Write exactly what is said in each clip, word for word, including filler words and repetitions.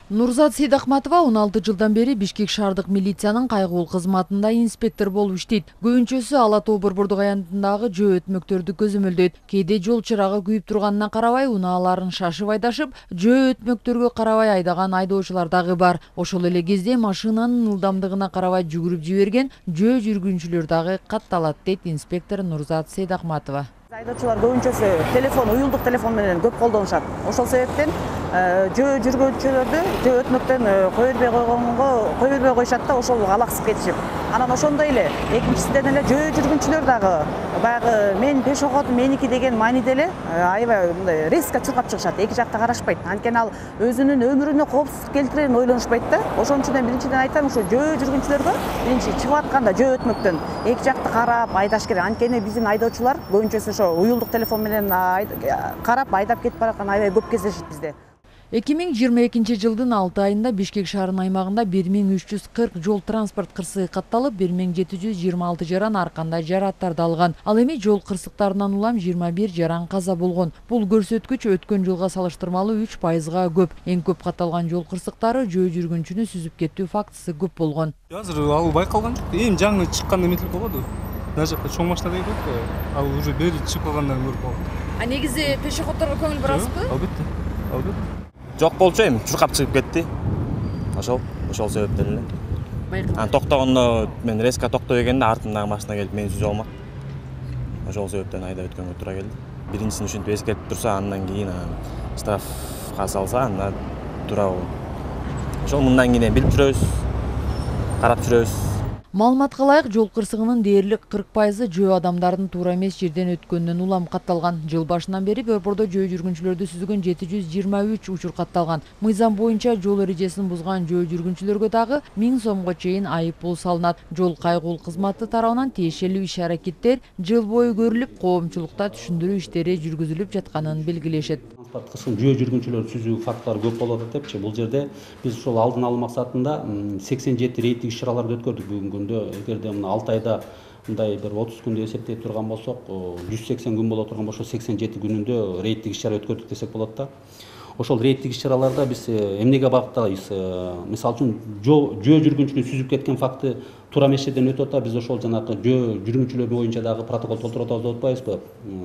Нурзат Сейдахматова он алты жылдан бери Бишкек шаардык милициянын кайгылуу кызматында инспектор болуп иштейт. Көбүнчөсү Ала Тоо борбордук аянтындагы жөө өтмөктөрдү көзөмөлдөйт. Кээде жол чырагы күйүп турганына карабай, унааларын шашып айдашып, жөө өтмөктөргө карабай айдаган айдоочулар дагы бар. Ошол эле кезде машинанын ылдамдыгына карабай жүгүрүп жиберген жөө жүргүнчүлөр дагы катталат, дейт инспектор Нурзат Сейдахматова. Айдоочулар көбүнчөсү телефон, уюлдук телефон менен көп колдонушат. Ошол себептен жөө жүргүнчүлөрдү жөө өтмөктөн кое бербей койгонго кое бербей коюшат да, ошол алаксып кетишип. Анан ошондой эле экинчисинен эле жөө жүргүнчүлөр дагы баягы мен пешеходу меники деген мааниде эле аябай мындай резко чуркап чыгышат. Эки жакта карашпайт. Анткени ал өзүнүн өмүрүнө коопсуздук келтирерин ойлонушпайт да. Ошон үчүн биринчиден айтам, ушу жөө жүргүнчүлөргө биринчи чыгып атканда жөө өтмөктөн эки жакты карап айдаш керек. Анткени биздин айдоочулар көбүнчөсү ошо уюлдук телефон менен карап айдап кетип бараткан аябай көп кездешет бизде. эки миң жыйырма экинчи жылдын алты айында Бишкек шаарынын аймагында бир миң үч жүз кырк жол транспорт кырсыгы катталып, бир миң жети жүз жыйырма алты жаран ар кандай жарааттарды алган. Ал эми жол кырсыктарынан улам жыйырма бир жаран каза болгон. Бул көрсөткүч өткөн жылга салыштырмалуу үч пайызга көп. Эң көп катталган жол кырсыктары жөө жүргүнчүнү сүзүп кетүү фактысы көп болгон. Азыр ал байкалган жок. Эми жаңы чыкканда эметилип калбады. Мына жакка чоң машина дейт го, ал уже бери чыгып калгандан көрүп калдым. А негизи пешеходдорго көңүл бурасызбы? Албетте. Албетте. Жок болчу эми чуркап чыгып кетти. Ошол, ошол себептен эле. Байкалган. Анан токтогондо мен резко токтой дегенде артымдагы машина келип мени сүзүп алмак. Ошол себептен айдап өткөнгө туура келди. Биринчисин ушинтип эскертип турса, андан кийин штрафка салса, анда туура болот. Ошол мындан кийин билип жүрөбүз, карап жүрөбүз. Маалыматка ылайык, жол кырсыгынын дээрлик кырк пайызы жөө адамдардын туура эмес жерден өткөнүнөн улам катталган. Жыл башынан бери борбордо жөө жүргүнчүлөрдү сүзгөн жети жүз жыйырма үч учур катталган. Мыйзам боюнча жол эрежесин бузган жөө жүргүнчүлөргө дагы миң сомго чейин айып пул салынат. Жол кайгылуу кызматы тарабынан тиешелүү иш-аракеттер жыл бою көрүлүп, коомчулукта түшүндүрүү иштери жүргүзүлүп жатканын белгилешет. Кырсыгын жөө жүргүнчүлөр сүзүү фактылары көп болот депчи. Бул жерде биз ушул алдын алуу максатында сексен жети рейдтик иш-чараларды өткөрдүк бүгүнкү күндө. Эгерде мына алты айда мындай бир отуз күндү эсептей турган болсок, жүз сексен күн боло турган болсо, сексен жети күнүндө рейдтик иш-чара өткөрдүк десек болот да. Ошол рейдтик иш-чараларда биз эмнеге багытталабыз? Мисалы үчүн жөө жүргүнчүнү сүзүп кеткен факты туура эмес жерден өтүп атса, биз ошол жанагы жөө жүргүнчүлөр боюнча дагы протокол толтуруп атабыз деп атпайбызбы?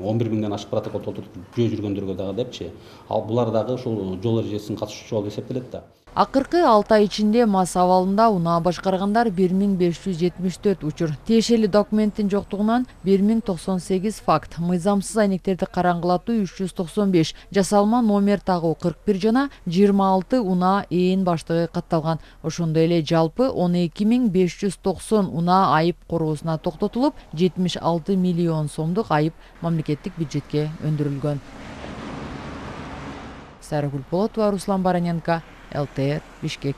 он бир миңден ашык протокол толтурдук жөө жүргөндөргө дагы депчи. Ал булар дагы ушул жол эрежесин катышуучу болуп эсептелет да. Акыркы алты ай ичинде мас абалында унаа башкаргандар бир миң беш жүз жетимиш төрт учур, тиешелүү документтин жоктугунан бир миң токсон сегиз факт, мыйзамсыз айнектерди караңгылатуу үч жүз токсон беш, жасалма номер тагуу кырк бир жана жыйырма алты унаа ээн баштыгы катталган. Ошондой эле жалпы он эки миң беш жүз токсон унаа айып короосуна токтотулуп, жетимиш алты миллион сомдук айып мамлекеттик бюджетке өндүрүлгөн. Сарагүл Полотова, Руслан Бараненко, эл тэ эр Бишкек.